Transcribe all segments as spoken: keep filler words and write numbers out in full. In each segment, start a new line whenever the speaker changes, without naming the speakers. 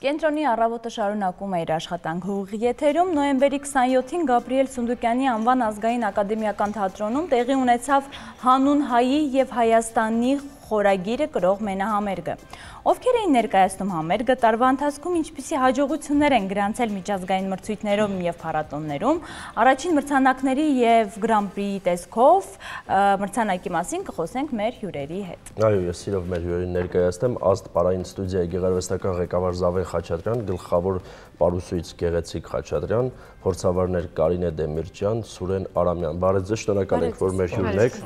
Կենտրոնի առավոտը շարունակում է իր աշխատանքը ուղիղ եթերում նոյեմբերի քսանյոթին Գաբրիել Սունդուկյանի անվան ազգային ակադեմիական թատրոնում տեղի ունեցավ հանուն հայի և Հայաստանի խորագիրը կրող մենահամերգը։ Ովքեր էին ներկայացնում համերգը, տարվա ընթացքում ինչպիսի հաջողություններ են գրանցել միջազգային մրցույթներում և փառատոներում, առաջին մրցանակների և Գրան-պրիի տեսքով մրցանակի մասին կխոսենք մեր հյուրերի հետ։
Այո, ես սիրով մեր հյուրերին ներկայացնեմ Ազտ պարային ստուդիայի գեղարվեստական ղեկավար Զավեն Խաչատրյան, գլխավոր պարուսույց Գեղեցիկ Խաչատրյան, փորձավարներ Կարինե Դեմիրճյան, Սուրեն Արամյան։ Բարև ձեզ, շնորհակալ ենք, որ մեր հյուրն եք։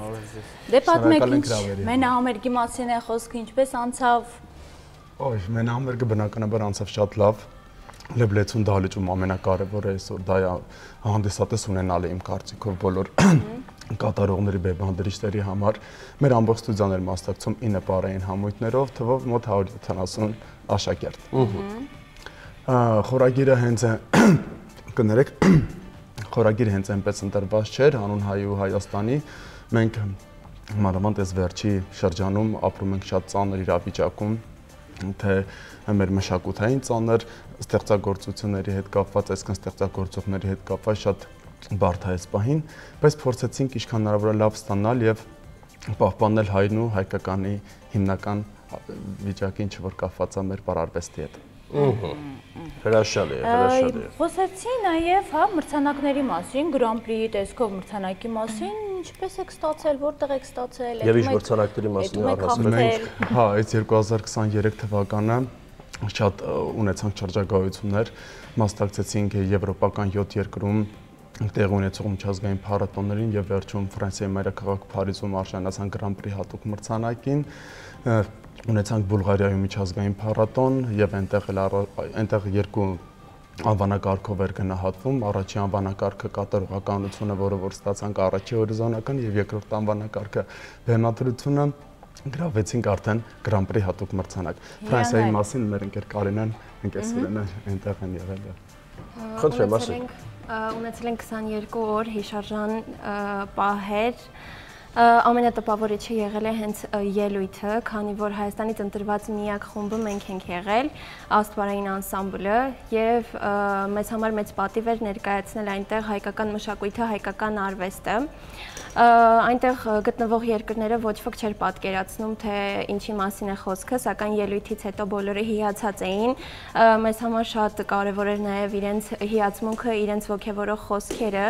Դե պատմեք, ինչ մենահամերգի մասին է խոսքը, ինչպես անցավ։
Օй, մենահամերգը բնականաբար անցավ շատ լավ։ Լեբլեցուն դահլիճում ամենակարևորը այսօր դա է հանդիսատես ունենալը իմ կարծիքով բոլոր կատարողների բեբանդրիչների համար։ Մեր ամբողջ ստուդիան էր մասնակցում ինը պարային համույթներով, թվով մոտ հարյուր յոթանասուն աշակերտ։ Խորագիրը հենց կներեք, խորագիրը հենց այնպես ընտրված չէր, հանուն հայի ու Հայաստանի։ Մենք մանավանդ այս վերջի շրջանում ապրում ենք շատ ծանր իրավիճակում, թե մեր մշակութային ծանր ստեղծագործությունների հետ կապված, այսքան ստեղծագործողների հետ կապված շատ բարդ է այս պահին, բայց փորձեցինք ինչքան հնարավոր է լավ ստանալ եւ պահպանել հայրն ու հայկականի հիմնական վիճակին, ինչ որ կապված է մեր պարարվեստի հետ։
Հրաշալի է, հրաշալի է։
Խոսեցի նաև հա մրցանակների մասին, Գրան-պրիի տեսքով մրցանակի մասին, ինչպես եք ստացել, որտեղ եք ստացել,
եւ ինչ մրցանակների մասին առհասարակ։
Հա, այս երկու հազար քսաներեք թվականը շատ ունեցանք շրջագայություններ, մասնակցեցինք եվրոպական յոթ երկրում տեղ ունեցող միջազգային փառատոներին եւ վերջում Ֆրանսիայի մայրաքաղաք Փարիզում արժանացան Գրան-պրի հատուկ մրցանակին, ունեցանք Բուլղարիայում միջազգային փառատոն եւ այնտեղ էլ այնտեղ երկու անվանակարգով էր գնահատվում, առաջի անվանակարգը կատարողականությունը, որը որ ստացանք առաջի հորիզոնական եւ երկրորդ անվանակարգը բեմադրությունը գրավեցինք արդեն Գրան-պրի հատուկ մրցանակ։ Ֆրանսիայի մասին մեր ընկեր Կարինեն, ընկեր Սուրենը այնտեղ են եղել։
Խնդրեմ, ասեք։
Ունեցել ենք քսաներկու օր հիշարժան պահեր, ամենատպավորիչը եղել է հենց ելույթը, քանի որ Հայաստանից ընտրված միակ խումբը մենք ենք եղել, Ազտ պարային անսամբլը, եւ մեզ համար մեծ պատիվ էր ներկայացնել այնտեղ հայկական մշակույթը, հայկական արվեստը։ Այնտեղ գտնվող երկրները ոչ ոք չէր պատկերացնում, թե ինչի մասին է խոսքը, սակայն ելույթից հետո բոլորը հիացած էին։ Մեզ համար շատ կարևոր էր նաև իրենց հիացմունքը, իրենց ոգևորող խոսքերը,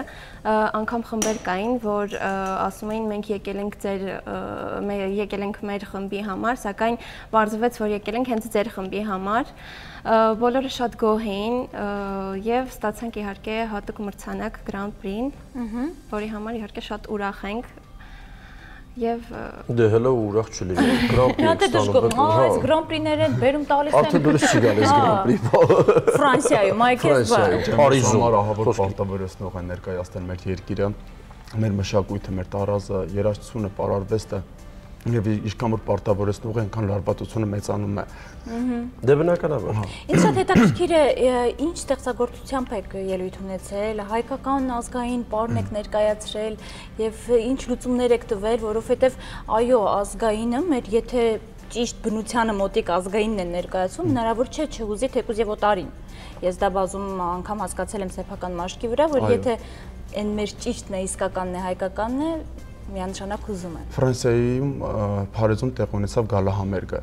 անգամ խմբեր կային, որ ասում էին մենք եկել ենք ձեր եկել ենք մեր խմբի համար, սակայն պարզվեց, որ եկել ենք հենց ձեր խմբի համար։ Բոլորը շատ գոհ էին եւ ստացանք իհարկե հատուկ մրցանակ Գրան-պրին, որի համար իհարկե շատ ուրախ ենք եւ
դե հələ ուրախ չլինի Գրան-պրի
ստանալու այս Գրան-պրիներն բերում տալիս են
արդեն դուրս չի գալիս Գրան-պրի
Ֆրանսիայում այքես բա
Փարիզում
ահավոր պարտավորեցնող են ներկայացնել մեր երկիրը, մեր մշակույթը, մեր տարազը, երաժշտությունը, պարարվեստը եւ ինչքան որ պարտավորեցնող է, այնքան լարվածությունը մեծանում է։
Դե բնականաբար։
Ինձ շատ հետաքրքիր է, ինչ ստեղծագործությամբ եք ելույթ ունեցել, հայկական ազգային պարն եք ներկայացրել եւ ինչ լուծումներ եք տվել, որովհետեւ այո, ազգայինը մեր եթե ճիշտ բնությանը մոտիկ ազգայինն է ներկայացում, հնարավոր չէ չհուզի թեկուզ եւ օտարին։ Ես դա բազում անգամ հասկացել եմ սեփական մաշկի վրա, որ եթե այն մեր ճիշտն է, իսկականն է, հայկականն է, միանշանակ հուզում է։
Ֆրանսիայում Փարիզում տեղ ունեցավ գալահամերգը։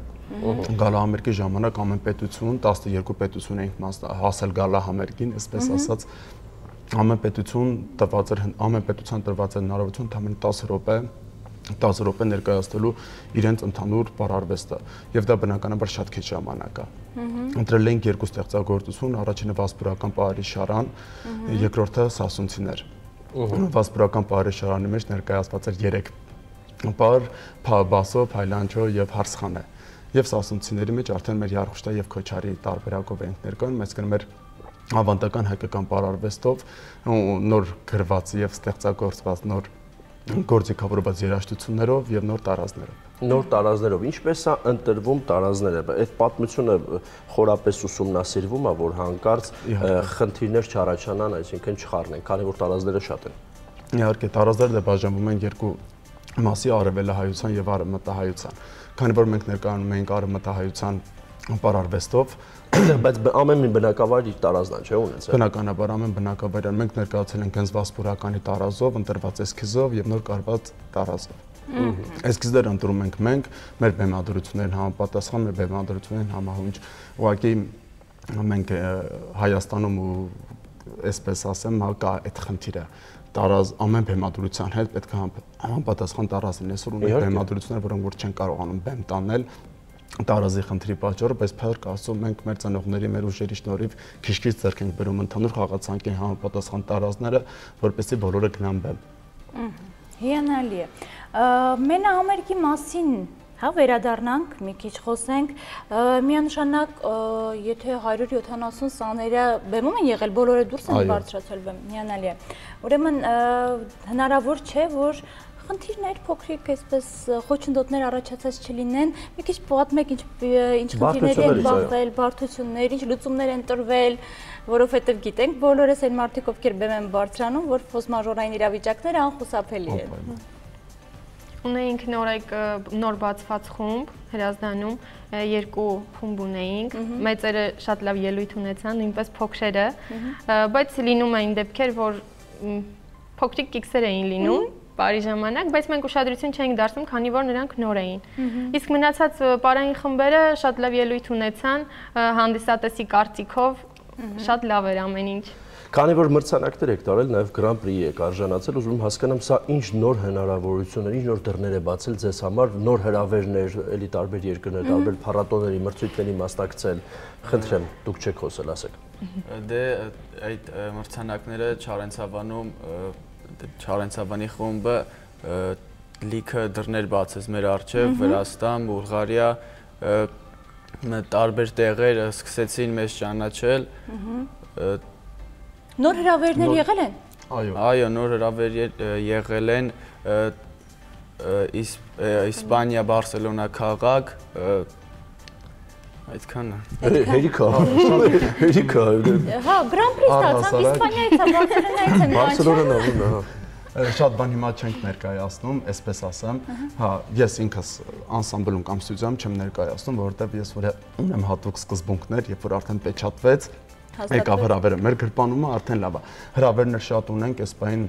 Գալահամերգի ժամանակ ամեն պետություն, տասներկու պետություն էինք հասել գալահամերգին, այսպես ասած, ամեն պետություն տված էր, ամեն պետության տրված էր հնարավորություն ընդամենը տասը րոպե տասը րոպե ներկայացնելու իրենց ընդհանուր պարարվեստը եւ դա բնականաբար շատ քիչ ժամանակ է։ Ընտրել ենք երկու ստեղծագործություն, առաջինը վասպուրական պարի շարան, երկրորդը սասունցիներ։ Վասպուրական պարի շարանի մեջ ներկայացված էր երեք պար, բասո, փայլանջո եւ հարսխանե։ Եվ սասունցիների մեջ արդեն մեր Յարխուշտա եւ Քոչարի տարբերակով ենք ներկայանում, այսինքն մեր ավանդական հայկական պարարվեստով նոր գրված եւ ստեղծագործված նոր գործիքավորված երաժշտություններով եւ նոր տարազներով։
Նոր տարազներով ինչպես է ընտրվում տարազները։ Այդ պատմությունը խորապես ուսումնասիրվում է, որ հանկարծ խնդիրներ չառաջանան, այսինքն չխառնեն, քանի որ տարազները շատ են։
Իհարկե, տարազները բաժանվում են երկու մասի՝ արևելահայության եւ արևմտահայության։ Քանի որ մենք ներկայանում ենք արևմտահայության պարարվեստով,
Բայց ամեն մի բնակավար իր տարազն է, չէ՞ ունեցել։
Բնականաբար ամեն բնակավայրը մենք ներկայացել ենք հենց վասպուրականի տարազով, ընտրված էսքիզով եւ նոր կարված տարազով։ Էսքիզները ընտրում ենք մենք, մեր բեմադրություններին համապատասխան, մեր բեմադրություններին համահունչ։ Ուղղակի մենք Հայաստանում ու այսպես ասեմ, կա այդ խնդիրը։ Տարազ ամեն բեմադրության հետ պետք է համապատասխան տարազ լինի։ Այսօր ունենք բեմադրություններ, որոնք որ չեն կարողանում բեմ տանել տարազի խնդրի պատճառով, բայց փառք Աստծո մենք մեր ծնողների, մեր ուժերի շնորհիվ քիչ-քիչ ձեռք ենք բերում ընդհանուր խաղացանկի համապատասխան տարազները, որպեսզի բոլորը գնան բեմ։
Հիանալի է։ Մենահամերգի մասին հա վերադառնանք, մի քիչ խոսենք, միանշանակ եթե հարյուր յոթանասուն սաները բեմում են եղել, բոլորը դուրս են բարձրացել բեմ, հիանալի է։ Ուրեմն հնարավոր չէ, որ խնդիրներ փոքրիկ այսպես խոչընդոտներ առաջացած չլինեն, մի քիչ պատմեք ինչ ինչ խնդիրների են բախվել, բարդություններ, ինչ լուծումներ են տրվել, որովհետև գիտենք բոլորս այն մարդիկ, ովքեր բեմ են բարձրանում, որ ֆորս-մաժորային իրավիճակները անխուսափելի են։
Ունեինք նորայք նոր բացված խումբ Հրազդանում, երկու խումբ ունեինք, մեծերը շատ լավ ելույթ ունեցան, նույնպես փոքրերը, բայց լինում էին դեպքեր, որ փոքրիկ կիքսեր էին լինում բարի ժամանակ, բայց մենք ուշադրություն չէինք դարձնում, քանի որ նրանք նոր էին։ Իսկ մնացած պարային խմբերը շատ լավ ելույթ ունեցան, հանդիսատեսի կարծիքով շատ լավ էր ամեն ինչ։
Քանի որ մրցանակներ եք տարել, նաև Grand Prix եք արժանացել, ուզում հասկանամ, սա ինչ նոր հնարավորություններ, ինչ նոր դռներ է բացել ձեզ համար, նոր հրավերներ, էլի տարբեր երկրներ, տարբեր փառատոների, մրցույթների մասնակցել։ Խնդրեմ, դուք չեք խոսել, ասեք։
Դե այդ մրցանակները Չարենցավանում Չարենցավանի խումբը լիքը դռներ բացեց մեր առջև, Վրաստան, Բուլղարիա, տարբեր տեղեր սկսեցին մեզ ճանաչել։
Նոր հրավերներ եղել են։
Այո։
Այո, նոր հրավեր եղել են Իսպանիա, Բարսելոնա քաղաք, այդքանը։
Հերիքա, հերիքա։
Հա, Grand Prix ստացանք, Իսպանիայից է, Բարսելոնայից են։
Բարսելոնան ա, հա։
Շատ բան հիմա չենք ներկայացնում, այսպես ասեմ, հա, ես ինքս անսամբլում կամ ստուդիայում չեմ ներկայացնում, որովհետև ես որ ունեմ հատուկ սկզբունքներ, երբ որ արդեն պեչատվեց, եկավ հրավերը, մեր գրպանումը արդեն լավ է։ Հրավերներ շատ ունենք, այս բային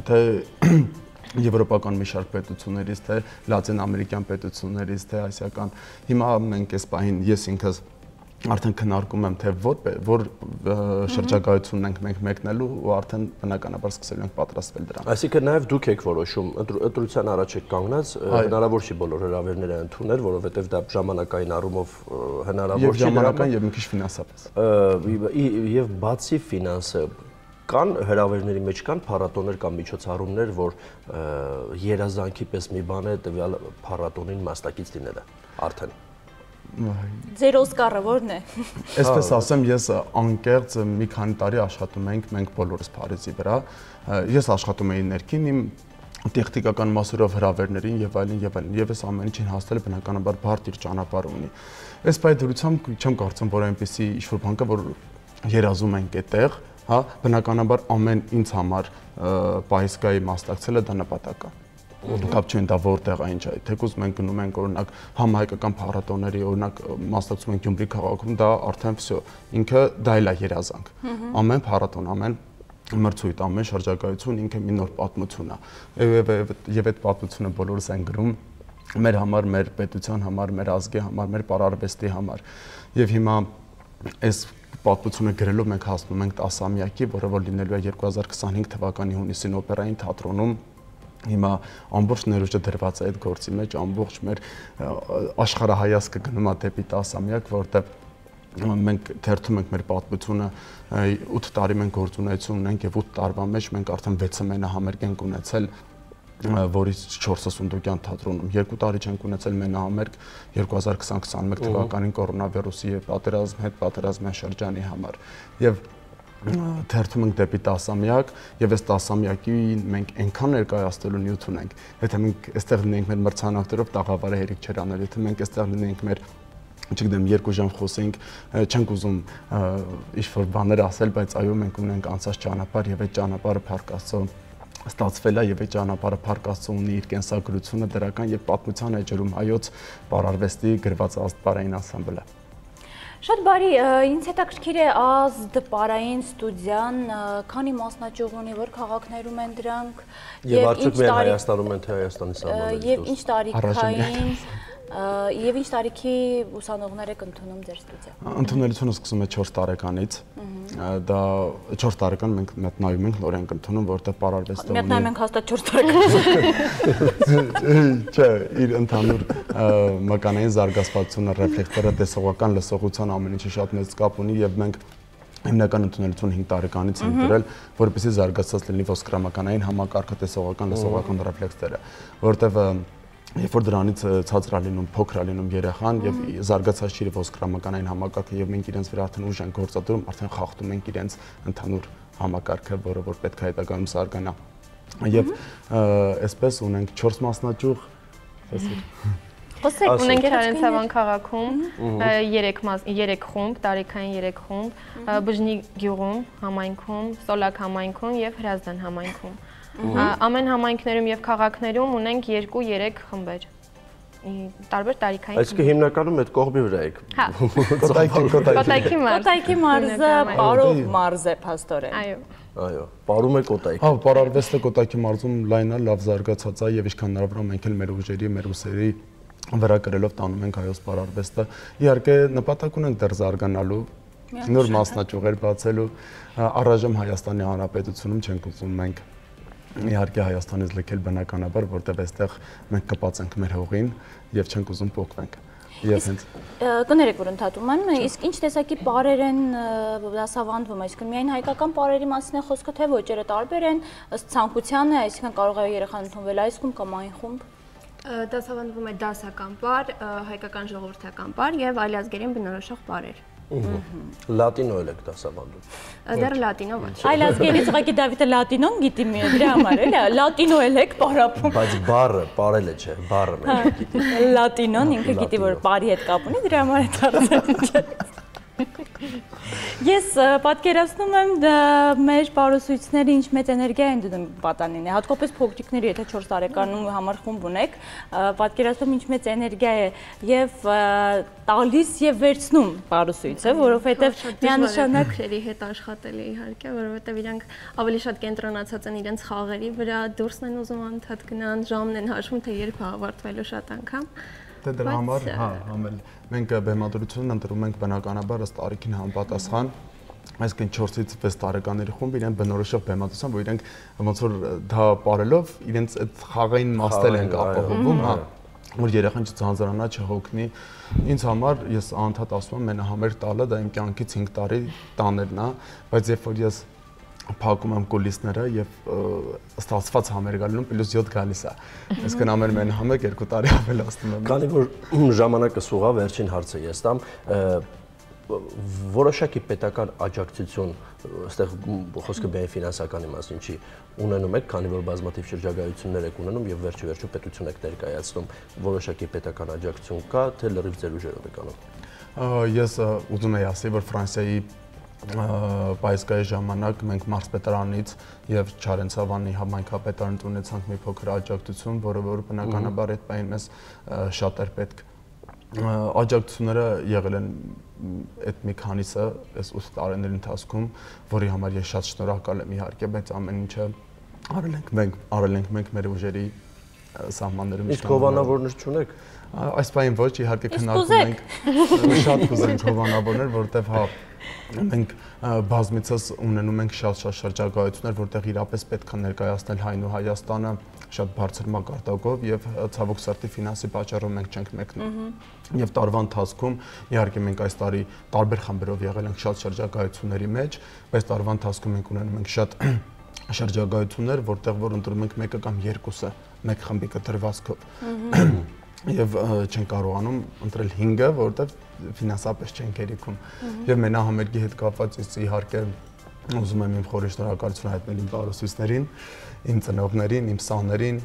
թե եվրոպական մի շարք պետություններից, թե լատին ամերիկյան պետություններից, թե ասիական։ Հիմա մենք այս բային ես ինքս արդեն քննարկում եմ, թե որ որ շրջագայությունն ենք մենք մեկնելու ու արդեն բնականաբար սկսելու ենք պատրաստվել դրան։
Այսինքն նաև դուք եք որոշում, ընտրության առաջ եք կանգնած, հնարավոր չի բոլոր հրավերները ընդունել, որովհետև դա ժամանակային առումով հնարավոր չի։
Եվ ժամանակային եւ մի քիչ ֆինանսապես։
Եվ բացի ֆինանսը, կան հրավերների մեջ կան փառատոներ կամ միջոցառումներ, որ երազանքի պես մի բան է տվյալ փառատոնին մասնակից լինելը արդեն։
Ձեր Օսկարը ո՞րն է։
Այսպես ասեմ, ես անկեղծ մի քանի տարի աշխատում ենք մենք բոլորս Փարիզի վրա։ Ես աշխատում էի ներքին իմ տեխնիկական մասերով հրավերներին եւ այլն եւ այլն։ Եվ ես ամեն ինչին հասնել բնականաբար բարդ իր ճանապարհ ունի։ Այս բայդրությամբ չեմ կարծում, որ այնպեսի ինչ-որ բան կա, որ երազում ենք այդտեղ, հա, բնականաբար ամեն ինձ համար պայսկայի մասնակցելը դա նպատակ է։ Կապ չեն դա որտեղ այն չէ, թեկուզ մենք գնում ենք օրինակ համահայկական փառատոների, օրինակ մասնակցում ենք Գյումրի քաղաքում, դա արդեն վсё, ինքը դա էլ է երազանք։ Ամեն փառատոն, ամեն մրցույթ, ամեն շրջագայություն ինքը մի նոր պատմություն է։ Եվ այդ պատմությունը բոլորս են գրում մեր համար, մեր պետության համար, մեր ազգի համար, մեր պարարվեստի համար։ Եվ հիմա այս պատմությունը գրելով մենք հասնում ենք տասամյակի, որը որ լինելու է երկու հազար քսանհինգ թվականի հունիսին օպերային թատրոնում։ Հիմա ամբողջ ներուժը դրված է այդ գործի մեջ, ամբողջ մեր աշխարհահայացքը գնում է դեպի տասամյակ, որտեղ մենք թերթում ենք մեր պատմությունը, ութ տարի մենք գործունեություն ունենք եւ ութ տարվա մեջ մենք արդեն վեցը մենահամերգ ենք ունեցել, որից չորսը Սունդուկյան թատրոնում, երկու տարի չենք ունեցել մենահամերգ երկու հազար քսան քսանմեկ թվականին կորոնավիրուսի եւ պատերազմ հետ պատերազմյան շրջանի համար։ Եվ թերթում ենք դեպի տասամյակ եւ այս տասամյակին մենք այնքան ներկայացնելու նյութ ունենք, եթե մենք այստեղ լինենք մեր մրցանակներով տաղավարը հերիք չեր անել, եթե մենք այստեղ լինենք մեր չգիտեմ երկու ժամ խոսենք, չենք ուզում ինչ-որ բաներ ասել, բայց այո մենք ունենք անցած ճանապարհ եւ այդ ճանապարհը Փառք Աստծո ստացվել է եւ այդ ճանապարհը Փառք Աստծո ունի իր կենսագրությունը դրական եւ պատմության էջերում հայոց պարարվեստի գրված աստպարային անսամբլը։
Շատ բարի, ինձ հետաքրքիր է ազդ պարային ստուդիան, քանի մասնաճյուղ ունի, որ քաղաքներում են դրանք
եւ արդյոք միայն Հայաստանում են, թե Հայաստանի սահմաններից
դուրս։ Եվ ինչ տարիքային Եվ ինչ տարիքի ուսանողներ եք ընդունում ձեր ստուդիա։
Ընդունելությունը սկսում է չորս տարեկանից։ Դա չորս տարեկան մենք մատնայում ենք, նոր ենք ընդունում, որտեղ պարարվեստը ունի։
Մատնայում ենք հաստատ չորս տարեկան։
Չէ, իր ընդհանուր մկանային զարգացվածությունը, ռեֆլեկտորը, տեսողական լսողության ամեն ինչը շատ մեծ կապ ունի եւ մենք հիմնական ընդունելությունը հինգ տարեկանից ենք դրել, որպեսզի զարգացած լինի ոսկրամականային համակարգը, տեսողական, լսողական ռեֆլեքսները, որտեղ Երբ որ դրանից ցածր է լինում, փոքր է լինում երեխան եւ զարգացած չի ոսկրամականային համակարգը եւ մենք իրենց վրա արդեն ուժ ենք գործադրում, արդեն խախտում ենք իրենց ընդհանուր համակարգը, որը որ պետք է հետագայում զարգանա։ Եվ այսպես ունենք չորս մասնաճյուղ, ասեցի։
Խոսեք, ունենք Չարենցավան քաղաքում երեք խումբ, տարիքային երեք խումբ, Բժնի գյուղում, համայնքում, Սոլակ համայնքում եւ Հրազդան համայնքում։ Ամեն համայնքներում եւ քաղաքներում ունենք երկու-երեք խմբեր։ Տարբեր տարիքային։
Այսինքն հիմնականում այդ կողմի վրա եք։
Կոտայքի մարզ։
Կոտայքի մարզը Պարով մարզ է փաստորեն։
Այո։
Այո, Պարում է Կոտայք։
Հա, պարարվեստը Կոտայքի մարզում լայն է, լավ զարգացած է եւ ինչքան հնարավոր է մենք էլ մեր ուժերի, մեր ուսերի վրա կրելով տանում ենք հայոց պարարվեստը։ Իհարկե նպատակ ունենք դեռ զարգանալու, նոր մասնաճյուղեր բացելու, առայժմ Հայաստանի Հանրապետությունում չենք ուզում մենք Իհարկե Հայաստանից լքել բնականաբար, որտեղ այստեղ մենք կպած ենք մեր հողին եւ չենք ուզում փոխվենք։ Եվ հենց
կներեք, որ ընդհատում եմ, իսկ ինչ տեսակի պարեր են դասավանդվում, այսինքն միայն հայկական պարերի մասին է խոսքը, թե ոչ, երբ տարբեր են ըստ ցանկությանը, այսինքն կարող է երեխան ընդունվել այս խումբ կամ այն խումբ։
Դասավանդվում է դասական պար, հայկական ժողովրդական պար եւ այլազգերին բնորոշող պարեր։
Լատինո էլ եք դասավանդում։
Դեռ լատինո ոչ։
Այլազգերից ուղղակի Դավիթը լատինոն գիտի մի դրա համար էլի, լատինո էլ եք պարապում։
Բայց բառը, պարելը չէ, բառը մենք գիտի։
Լատինոն ինքը գիտի, որ պարի հետ կապ ունի, դրա համար է դարձել։ Ես պատկերացնում եմ մեր պարուսույցները ինչ մեծ էներգիա են դնում պատանին, հատկապես փոքրիկների, եթե չորս տարեկանում համար խումբ ունեք, պատկերացնում ինչ մեծ էներգիա է եւ տալիս եւ վերցնում պարուսույցը, որովհետեւ միանշանակ
քրերի հետ աշխատել է իհարկե, որովհետեւ իրանք ավելի շատ կենտրոնացած են իրենց խաղերի վրա, դուրսն են ուզում անդադ գնան, ժամն են հաշվում, թե երբ է ավարտվելու շատ անգամ։
Դե դրա համար, հա, համել մենք բեմադրությունն ընտրում ենք բնականաբար ըստ տարիքին համապատասխան, այսինքն չորսից վեց տարեկանների խումբ իրեն բնորոշող բեմադրության, որ իրենք ոնց որ դա ապարելով իրենց այդ խաղային մաստել են ապահովում, հա, որ երեխան չձանձրանա, չհոգնի։ Ինձ համար ես անդադ ասում եմ, մենահամեր տալը դա իմ կյանքից հինգ տարի տաներն է, բայց երբ որ ես փակում եմ կուլիսները եւ ստացված համեր գալու պլյուս յոթ գալիս է։ Այսինքն ամեն մեն համեր երկու տարի ավելացնում եմ։
Քանի որ ժամանակը սուղա, վերջին հարցը ես տամ, որոշակի պետական աջակցություն, այստեղ խոսքը միայն ֆինանսականի մասին չի, ունենում եք, քանի որ բազմաթիվ շրջագայություններ եք ունենում եւ վերջի վերջո պետություն եք ներկայացնում, որոշակի պետական աջակցություն կա, թե լրիվ ձեր ուժերով եք անում։
Ես ուզում եի ասել, որ Ֆրանսիայի Պայսկայի ժամանակ մենք մարզպետարանից եւ Չարենցավանի համայնքապետարանից ունեցանք մի փոքր աջակցություն, որը որ բնականաբար այդ պայն մեզ շատ էր պետք։ Աջակցությունները եղել են այդ մի քանիսը այս ութ տարիների ընթացքում, որի համար ես շատ շնորհակալ եմ իհարկե, բայց ամեն ինչը արել ենք մենք, արել ենք մենք մեր ուժերի սահմաններում։
Իսկ հովանավորներ չունեք։
Այս պայն ոչ, իհարկե քննարկում ենք, շատ կուզենք հովանավորներ, որտեվ հա մենք բազմիցս ունենում ենք շատ-շատ շրջագայություններ, որտեղ իրապես պետք է ներկայացնել հայն ու Հայաստանը շատ բարձր մակարդակով եւ ցավոք սրտի ֆինանսի պատճառով մենք չենք մեկնում։ Եվ տարվա ընթացքում իհարկե մենք այս տարի տարբեր խմբերով եղել ենք շատ շրջագայությունների մեջ, բայց տարվա ընթացքում մենք ունենում ենք շատ շրջագայություններ, որտեղ որ ընտրում ենք մեկը կամ երկուսը մեկ խմբի կտրվածքով։ Եվ չեն կարողանում ընտրել հինգը, որովհետև ֆինանսապես չեն կերիքում։ Եվ մենահամերգի հետ կապված ես իհարկե ուզում եմ իմ խորի շնորհակալություն հայտնել իմ պարուսույցներին, իմ ծնողներին, իմ սաներին,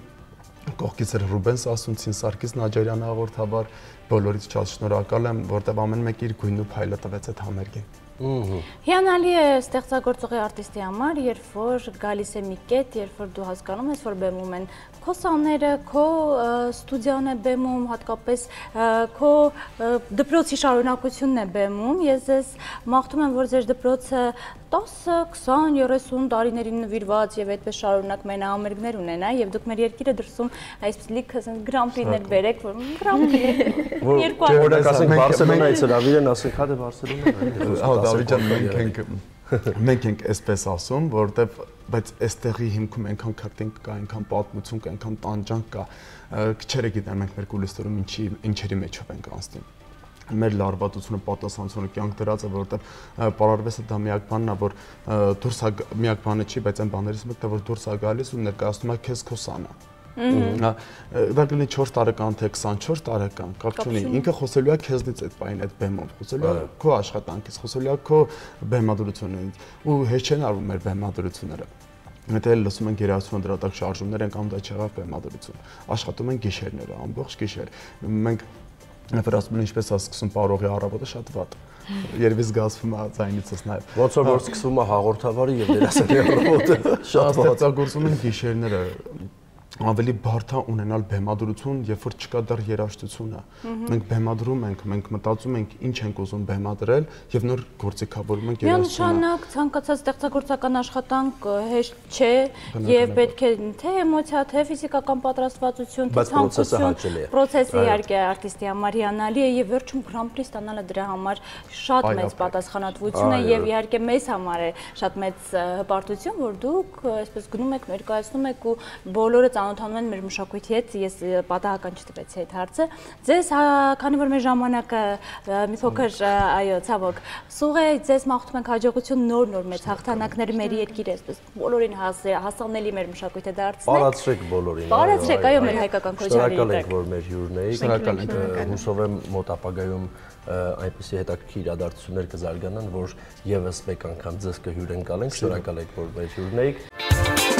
կողքից էր Ռուբեն Սասունցին, Սարգիս Նաջարյանը հաղորդավար, բոլորից շատ շնորհակալ եմ, որովհետև ամեն մեկը իր գույն ու փայլը տվեց այդ համերգին։
Հիանալի է ստեղծագործողի արտիստի համար, երբ որ գալիս է մի կետ, երբ որ դու հասկանում ես, որ բեմում են քո սաները, քո ստուդիան է բեմում, հատկապես քո դպրոցի շարունակությունն է բեմում։ Ես ձեզ մաղթում եմ, որ ձեր դպրոցը տասը, քսան, երեսուն տարիներին նվիրված եւ այդպես շարունակ մենահամերգներ ունենա եւ դուք մեր երկիրը դրսում այսպես լիքը գրամպրիներ բերեք, որ գրամպրի երկու
հատ ասենք Բարսելոնայից հրավիրեն, ասենք հա դե Բարսելոնա։
Հա Դավիթ ջան, մենք ենք մենք ենք այսպես ասում, որովհետեւ բայց այստեղի հիմքում այնքան քարտինգ կա, այնքան պատմություն կա, այնքան տանջանք կա, քչերը գիտեն մենք մեր կուլիսներում ինչի ինչերի մեջով ենք անցնում։ Մեր լարվածությունը, պատասխանությունը կյանք դրած է, որովհետև պարարվեստը դա միակ բանն է, որ դուրս է միակ բանը չի, բայց այն բաներից մեկն է, որ դուրս է գալիս ու ներկայացնում է քեզ քո սանը։ Դա կլինի չորս տարեկան թե քսանչորս տարեկան, կապ չունի, ինքը խոսելու է քեզնից այդ բանին, այդ բեմով, խոսելու է քո աշխատանքից, խոսելու է քո բեմադրությունից ու հեշտ չեն արվում մեր բեմադրությունները։ Մենք էլ լսում ենք երաժշտություն դրատակ շարժումներ են կամ դա չեղավ բեմադրություն։ Աշխատում են գիշերները, ամբողջ գիշեր։ Մենք Նefər ասում են ինչպես է սկսում պարողի առավոտը շատ վատ։ Երևի զգացվում է ձայնիցս նաև։
Ոնց որ սկսվում է հաղորդավարի եւ դերասանի առավոտը շատ վատ։
Ստեղծագործում են գիշերները ավելի բարդ է ունենալ բեմադրություն, երբ որ չկա դեռ երաժշտությունը։ Մենք բեմադրում ենք, մենք մտածում ենք ինչ ենք ուզում բեմադրել եւ նոր գործիքավորում ենք երաժշտությունը։
Միանշանակ ցանկացած ստեղծագործական աշխատանք հեշտ չէ եւ պետք է թե էմոցիա, թե ֆիզիկական պատրաստվածություն, թե ցանկություն, պրոցեսը իհարկե արտիստի համար հիանալի է եւ վերջում գրանպրի ստանալը դրա համար շատ մեծ պատասխանատվություն է եւ իհարկե մեզ համար է շատ մեծ հպարտություն, որ դուք այսպես գնում եք, ներկայացնում եք ու բոլորը ծանոթանում են մեր մշակույթի հետ, ես պատահական չտվեցի այդ հարցը։ Ձեզ, քանի որ մեր ժամանակը մի փոքր, այո, ցավոք, սուղ է, ձեզ մաղթում ենք հաջողություն, նոր-նոր մեծ հաղթանակներ մեր երկիրը, այսպես բոլորին հասանելի մեր մշակույթը դարձնեք։
Տարածրեք բոլորին։
Տարածրեք, այո, մեր հայկական քոչարի
Շնորհակալ ենք, որ մեր հյուրն եք։ Շնորհակալ ենք։ Հուսով եմ մոտ ապագայում այնպիսի հետաքրքիր իրադարձություններ կզարգանան, որ եւս մեկ անգամ ձեզ կհյուրընկալենք։ Շնորհակալ ենք, որ մեր հյուրն եք։